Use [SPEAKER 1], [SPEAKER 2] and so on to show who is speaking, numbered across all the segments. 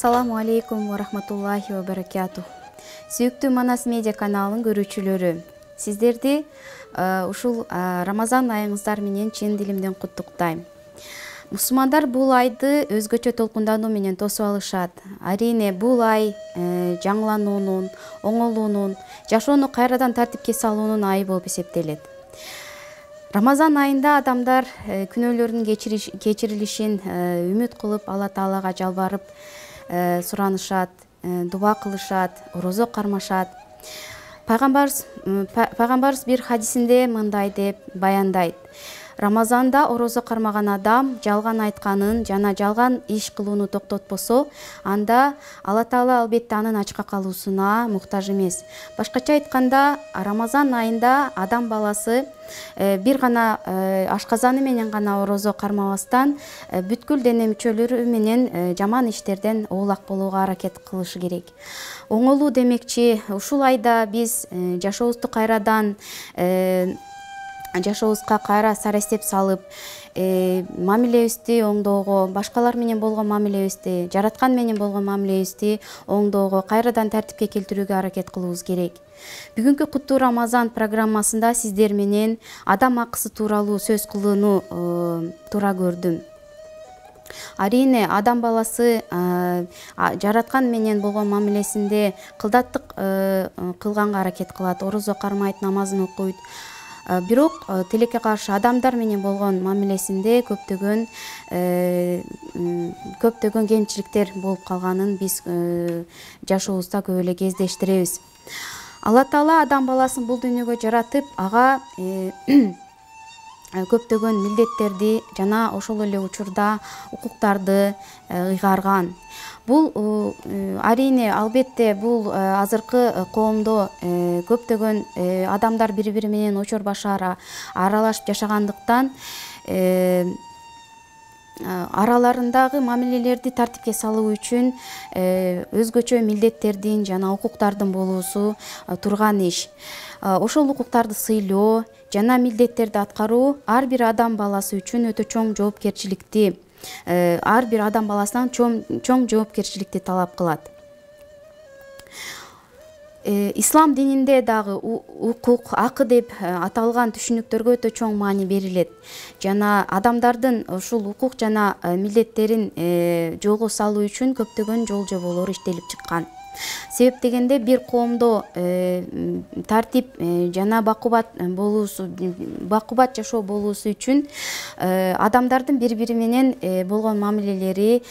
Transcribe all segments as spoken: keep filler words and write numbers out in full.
[SPEAKER 1] Ассаламу алейкум ва рахматуллахи ва баракатух. Сүйүктүү Манас медиа каналынын көрүүчүлөрү, сиздерди ушул Рамазан айыңыздар менен чын дилимден куттуктайм. Мусулмандар бул айды өзгөчө толкундануу менен тосуп алышат. Арине бул ай жаңылануунун, оңолуунун, жашоону кайрадан тартипке салуунун айы болуп эсептелет. Рамазан айында адамдар күнөөлөрүнүн кечирилишин үмүт кылып, Алла Таалага жалбарып суранышат, дуба кылышат, орозо кармашат. Пайгамбарыбыз пайгамбарыбыз бир хадисинде мындай деп баяндайт: Рамазанда орозо кармаган адам жалган айтканын жана жалган иш кылууну токтотпосо, анда Алла Таала албетте анын ачка калуусуна муктаж эмес. Башкача айтканда, Рамазан айында адам баласы бир гана ашказаны менен гана орозо кармабастан, бүткүл дене мүчөлөрү менен жаман иштерден оолак болууга аракет кылышы керек. Оңолуу демекчи, ушул айда биз жашообузду кайрадан жашообузга кайра сарештеп салып, мамилебизди оңдоого, башкалар менен болгон мамилебизди, жараткан менен болгон мамилебизди оңдоого, кайрадан тартипке келтирүүгө аракет кылуубуз керек. Бүгүнкү Куттуу Рамазан программасында сиздер менен адам акысы тууралуу сөз кылууну туура көрдүм. Арине адам баласы жараткан менен болгон мамилесинде кылдаттык кылганга аракет кылат, орозо кармайт, намазын окуйт. Бирок тилекке каршы адамдар менен болгон мамилесинде көптөгөн көптөгөн кемчиликтер болуп калганын биз жашообузда көп эле кездештиребиз. Алла Таала адам баласын бул дүйнөгө жаратып, ага көптөгөн милдеттерди жана ошол эле учурда укуктарды ыйгарган. Бул арине албетте бул азыркы коомдо көптөгөн адамдар бири-бири менен очор башара аралашып жашагандыктан араларындагы мамилелерди тартипке салуу үчүн өзгөчө милдеттердин жана укуктардын болуусу турган иш. Ошол укуктарды сыйлоо жана милдеттерди аткаруу ар бир адам баласы үчүн өтө чоң жоопкерчиликти, ар бир адам баласынан чоң жоопкерчиликти талап кылат. Ислам дининде дагы укук, акы деп аталган түшүнүктөргө өтө чоң маани берилет. Жана адамдардын ушул укук жана милдеттерин жолго салуу үчүн көптөгөн жол жоболор иштелип чыккан. Себеп дегенде бир коомдо тартип жана бакубат болуусу, бакубат жашоо болуусу үчүн адамдардын бири-бири менен болгон мамилелери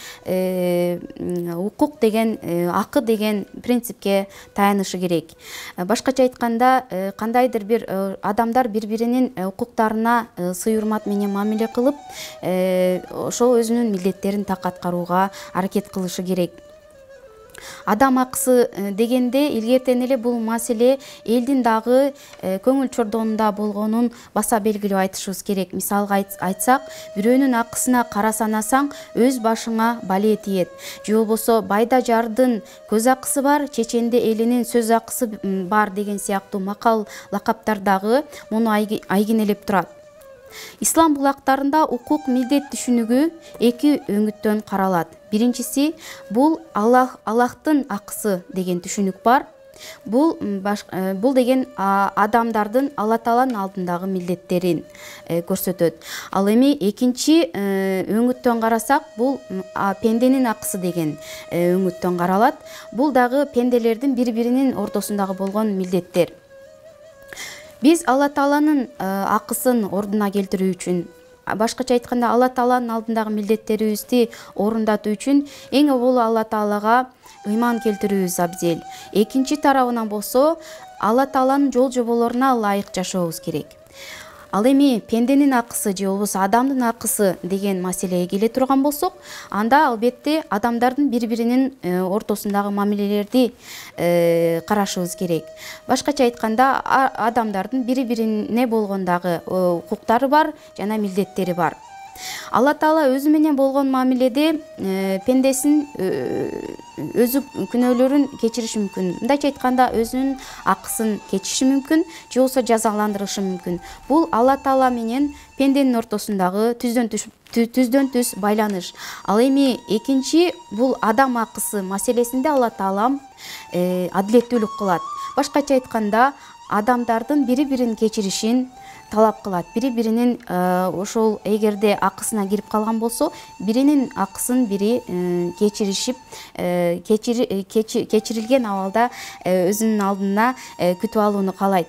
[SPEAKER 1] укук деген, акы деген принципке таянышы керек. Башкача айтканда, кандайдыр бир адамдар бири-биринин укуктарына сый-урмат менен мамиле кылып, ошол өзүнүн милдеттерин так аткарууга аракет кылышы керек. Адам акысы дегенде илгертен эле бул маселе элдин дагы көңүл чордонунда болгонун баса белгилеп айтышыбыз керек. Мисалга айтсак, бирөөнүн акысына кара санасаң, өз башыңа бале тиет. Же болбосо байда жардын көз акысы бар, чеченде элинин сөз акысы бар деген сыяктуу макал лакаптар дагы муну айгинелеп турат. Ислам булактарында укук милдет түшүнүгү эки өңүттөн каралат. Биринчиси бул Аллах Аллахтын акысы деген түшүнүк бар. Бул бул деген адамдардын Алла Тааланын алдындагы милдеттерин көрсөтөт. Ал эми экинчи өңүттөн карасак, бул пенденин акысы деген өңүттөн каралат. Бул дагы пенделердин бири-биринин ортосундагы болгон милдеттер. Биз Алла Тааланын акысын ордуна келтирүү үчүн, башкача айтканда Алла Тааланын алдындагы милдеттерибизди орундатуу үчүн эң аввал Алла Таалага ыйман келтирүүбүз абзел. Экинчи тарабынан болсо, Алла Тааланын жол жоболоруна ылайык жашообуз керек. Ал эми пенденин акысы же болбосо адамдын акысы деген маселеге келе турган болсок, анда албетте адамдардын бири-биринин ортосундагы мамилелерди карашыбыз керек. Башкача айтканда, адамдардын бири-бирине болгондагы укуктары бар жана милдеттери бар. Алла Таала өзү менен болгон мамиледе пендесин өзү күнөөлөрүн кечириши мүмкүн. Мындайча айтканда, өзүнүн акысын кечириши мүмкүн, же болбосо жазаландырышы мүмкүн. Бул Алла Таала менен пенденин ортосундагы түздөн түз түздөн түз байланыш. Ал эми экинчи бул адам акысы маселесинде Алла Таала адилеттүүлүк кылат. Башкача айтканда, адамдардын бири-бирин кечиришин талап кылат. Бири-биринин ошол эгерде акысына кирип калган болсо, биринин акысын бири кечиришип, кечирилген абалда өзүнүн алдына күтүп алууну каалайт.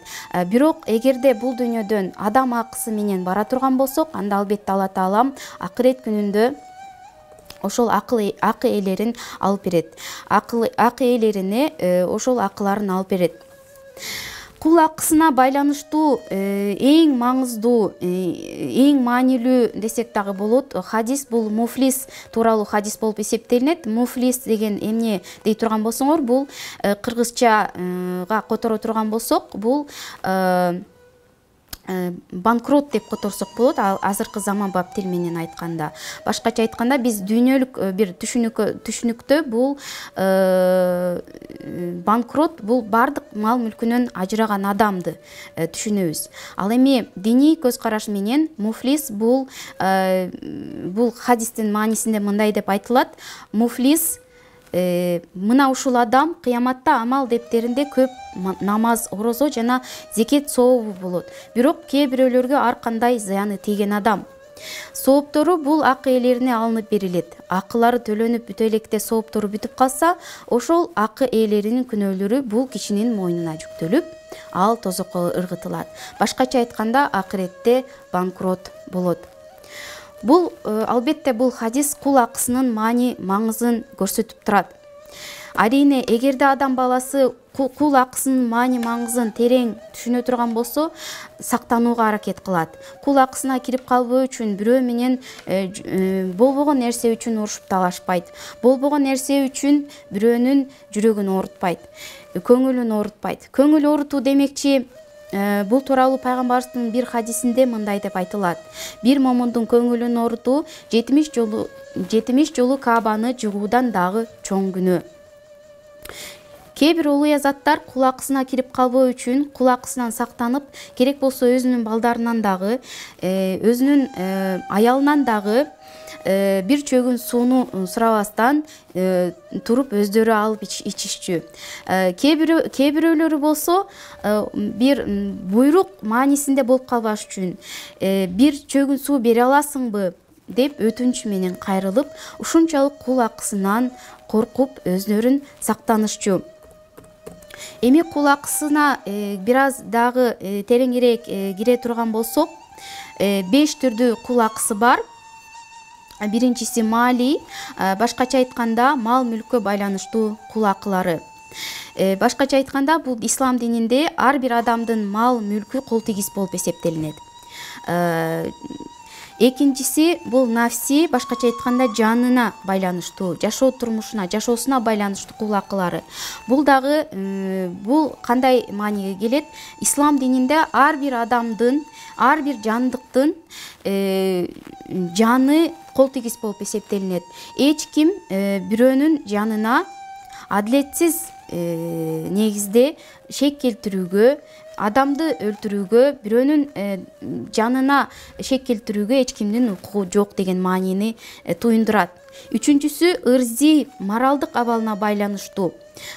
[SPEAKER 1] Бирок эгерде бул дүйнөдөн адам акысы менен бара турган болсок, анда албетте Алла Таала акырет күнүндө ошол акы ээлерин алып берет. Акы ээлерине ошол акыларын алып берет. Кул акысына байланыштуу эң маңыздуу, эң маанилүү десек дагы болот. Хадис бул муфлис тууралуу хадис болуп эсептелинет. Муфлис деген эмне дей турган болсоңор, бул кыргызчага которо турган болсок, бул банкрот деп которсок болот, азыркы заманбап тил менен айтканда. Башкача айтканда, биз дүйнөлүк бир түшүнүктө бул банкрот бул бардык мал мүлкүнөн ажыраган адамды түшүнөбүз. Ал эми диний көз караш менен муфлис бул бул хадистин маанисинде мындай деп айтылат: муфлис мына ушул адам кыяматта амал дептеринде көп намаз, орозо жана зекет сообу болот. Бирок кээ бирөөлөргө ар кандай зыяны тийген адам. Сооптору бул акы ээлерине алынып берилет. Акылары төлөнүп бүтө электе сооптору бүтүп калса, ошол акы ээлеринин күнөөлөрү бул кишинин мойнуна жүктөлүп, ал тозокко ыргытылат. Башкача айтканда, акыретте банкрот болот. Бул албетте бул хадис кул акысынын маани маңызын көрсөтүп турат. Арийне, эгерде адам баласы кул акысынын маани маңызын терең түшүнө турган болсо, сактанууга аракет кылат. Кул акысына кирип калбоо үчүн бирөө менен болбогон нерсе үчүн урушуп талашпайт. Болбогон нерсе үчүн бирөөнүн жүрөгүн оорутпайт, көңүлүн оорутпайт. Көңүл оорутуу демекчи, бул тууралуу пайгамбарыбыздын бир хадисинде мындай деп айтылат: бир момундун көңүлүн оорутуу жетимиш жолу жетимиш жолу Каабаны жыгуудан дагы чоң күнөө. Кээ бир улуу азаттар кул акысына кирип калбоо үчүн кул акысынан сактанып, керек болсо өзүнүн балдарынан дагы, өзүнүн аялынан дагы бир чөгүн сууну сурабастан туруп өздөрү алып ичишчү. Кээ бирөөлөрү болсо, бир буйрук маанисинде болуп калбаш үчүн бир чөгүн суу бере аласыңбы деп өтүнүч менен кайрылып, ушунчалык кул акысынан коркуп өздөрүн сактанышчу. Эми кул акысына бир аз дагы тереңирээк кире турган болсок, беш түрдүү кул акысы бар. Биринчиси маали, башкача айтканда мал мүлккө байланыштуу кул акылары. Башкача айтканда, бул ислам дининде ар бир адамдын мал мүлкү кол тигиз болуп эсептелинет. Экинчиси бул нафси, башкача айтканда жанына байланыштуу, жашоо турмушуна, жашоосуна байланыштуу кул акылары. Бул дагы бул кандай мааниге келет? Ислам дининде ар бир адамдын, ар бир жандыктын жаны кол тигиз болуп эсептелинет. Эч ким бирөөнүн жанына адилетсиз негизде шек келтирүүгө, адамды өлтүрүүгө, бирөөнүн жанына шек келтирүүгө эч кимдин укугу жок деген маанини туюндурат. Үчүнчүсү ырзи, моралдык абалына байланыштуу.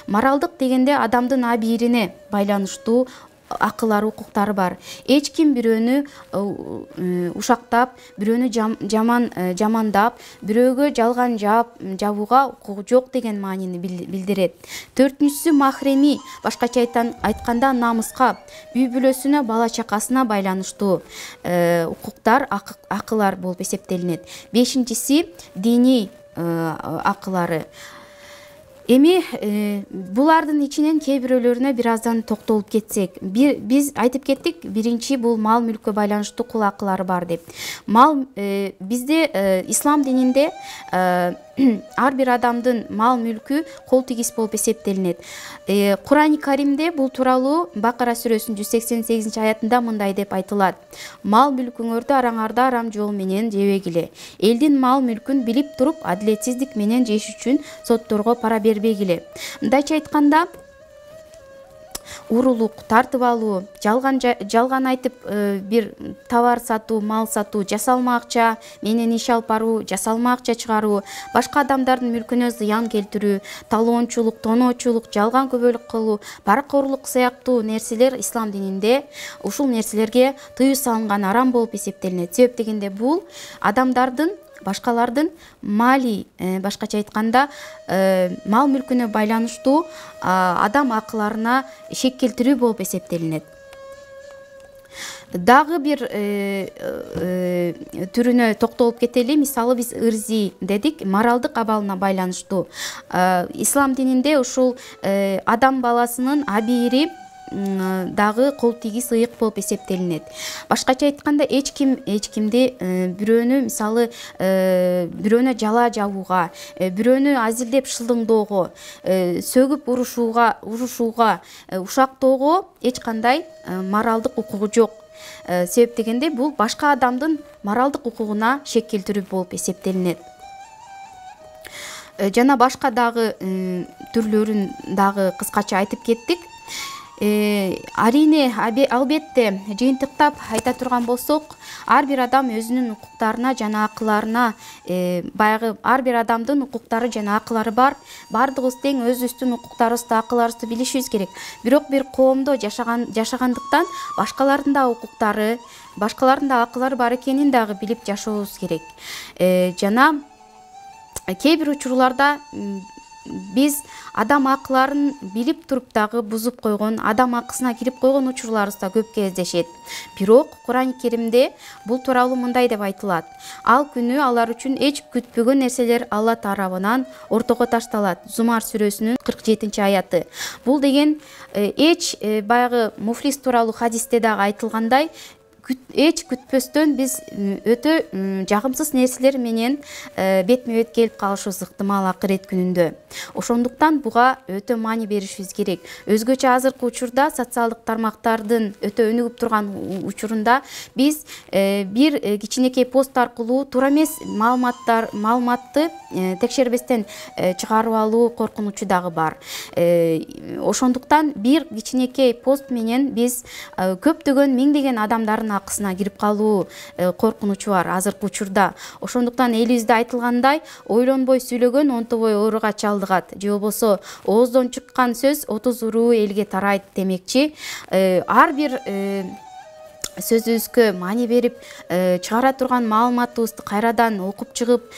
[SPEAKER 1] Моралдык дегенде адамдын абийирине байланыштуу акылар, укуктары бар. Эч ким бирөөнү ушактап, бирөөнү жаман жамандап, бирөөгө жалган жабууга укугу жок деген маанини билдирет. Төртүнчүсү махреми, башкача айтканда намыска, үй бүлөсүнө, бала чакасына байланыштуу укуктар, акылар болуп эсептелинет. Бешинчиси диний акылары. Эми булардын ичинен кээ бирөөлөрүнө бир аздан токтолуп кетсек, бир биз айтып кеттик, биринчи бул мал мүлккө байланыштуу кул акылары бар деп. Мал бизде ислам дининде ар бир адамдын мал мүлкү кол тигиз болуп эсептелинет. Кур'ани Каримде бул тууралуу Бакара сүрөсүнүн жүз сексен сегизинчи аятында мындай деп айтылат: мал мүлкүңөрдү араңарда арам жол менен жебегиле. Элдин мал мүлкүн билип туруп адилетсиздик менен жеш үчүн сотторго пара бербегиле. Мындайча айтканда, урулук, тартып алуу, жалган жалган айтып бир товар сатуу, мал сатуу, жасалма акча менен иш алып баруу, жасалма акча чыгаруу, башка адамдардын мүлкүнө зыян келтирүү, талоончулук, тоноочулук, жалган күбөлүк кылуу, паракорлук сыяктуу нерселер ислам дининде ушул нерселерге тыюу салынган, арам болуп эсептелинет. Себеп дегенде бул адамдардын, башкалардын мали, башкача айтканда, мал мүлкүнө байланыштуу адам акыларына шек келтирүү болуп эсептелинет. Дагы бир түрүнө токтолуп кетели. Мисалы, биз ырзи дедик, моралдык абалына байланыштуу. Ислам дининде ушул адам баласынын абийири дагы кол тигиз ыйык болуп эсептелинет. Башкача айтканда, эч ким эч кимди бирөөнү, мисалы, бирөөнө жала жабууга, бирөөнү азилдеп шылдыңдоого, сөгүп урушууга, урушууга, ушактоого эч кандай моралдык укугу жок. Себеп дегенде, бул башка адамдын моралдык укугуна шек келтирүү болуп эсептелинет. Жана башка дагы түрлөрүн дагы кыскача айтып кеттик. Арине, албетте, жыйынтыктап айта турган болсок, ар бир адам өзүнүн укуктарына жана акыларына, баягы ар бир адамдын укуктары жана акылары бар. Бардыгыбыз тең өзүбүздүн укуктарыбызды, акыларыбызды билишибиз керек. Бирок бир коомдо жашаган жашагандыктан башкалардын да укуктары, башкалардын да акылары бар экенин дагы билип жашообуз керек. Жана кээ бир учурларда биз адам акыларын билип туруп дагы бузуп койгон, адам акысына кирип койгон учурларыбыз да көп кездешет. Бирок Кур'ани Керимде бул тууралуу мындай деп айтылат: ал күнү алар үчүн эч күтпөгөн нерселер Алла тарабынан ортого ташталат. Зумар сүрөсүнүн кырк жетинчи аяты. Бул деген эч баягы муфлис тууралуу хадисте дагы айтылгандай, эч күтпөстөн биз өтө жагымсыз нерселер менен бетме бет келип калышыбыз ыктымал акырет күнүндө. Ошондуктан буга өтө маани беришибиз керек. Өзгөчө азыркы учурда, социалдык тармактардын өтө өнүгүп турган учурунда, биз бир кичинекей пост аркылуу туура эмес маалыматтар, маалыматты текшербестен чыгарып алуу коркунучу дагы бар. Ошондуктан бир кичинекей пост менен биз көптөгөн миңдеген адамдардын акысына кирип калуу коркунучу бар азыркы учурда. Ошондуктан элибизде айтылгандай, ойлонбой сүйлөгөн онтобой ооруга чалдыгат, же болбосо ооздон чыккан сөз отуз уруу элге тарайт демекчи. Ар бир сөзүбүзгө маани берип, чыгара турган маалыматыбызды кайрадан окуп чыгып,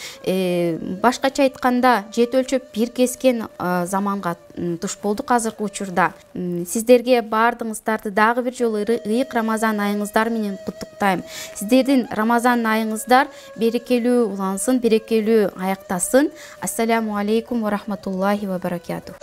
[SPEAKER 1] башкача айтканда жет өлчөп бир кескен заманга туш болдук азыркы учурда. Сиздерге баардыгыңыздарды дагы бир жолу ыйык Рамазан айыңыздар менен куттуктайм. Сиздердин Рамазан айыңыздар берекелүү улансын, берекелүү аяктасын. Ассаламу алейкум ва рахматуллахи ва баракатух.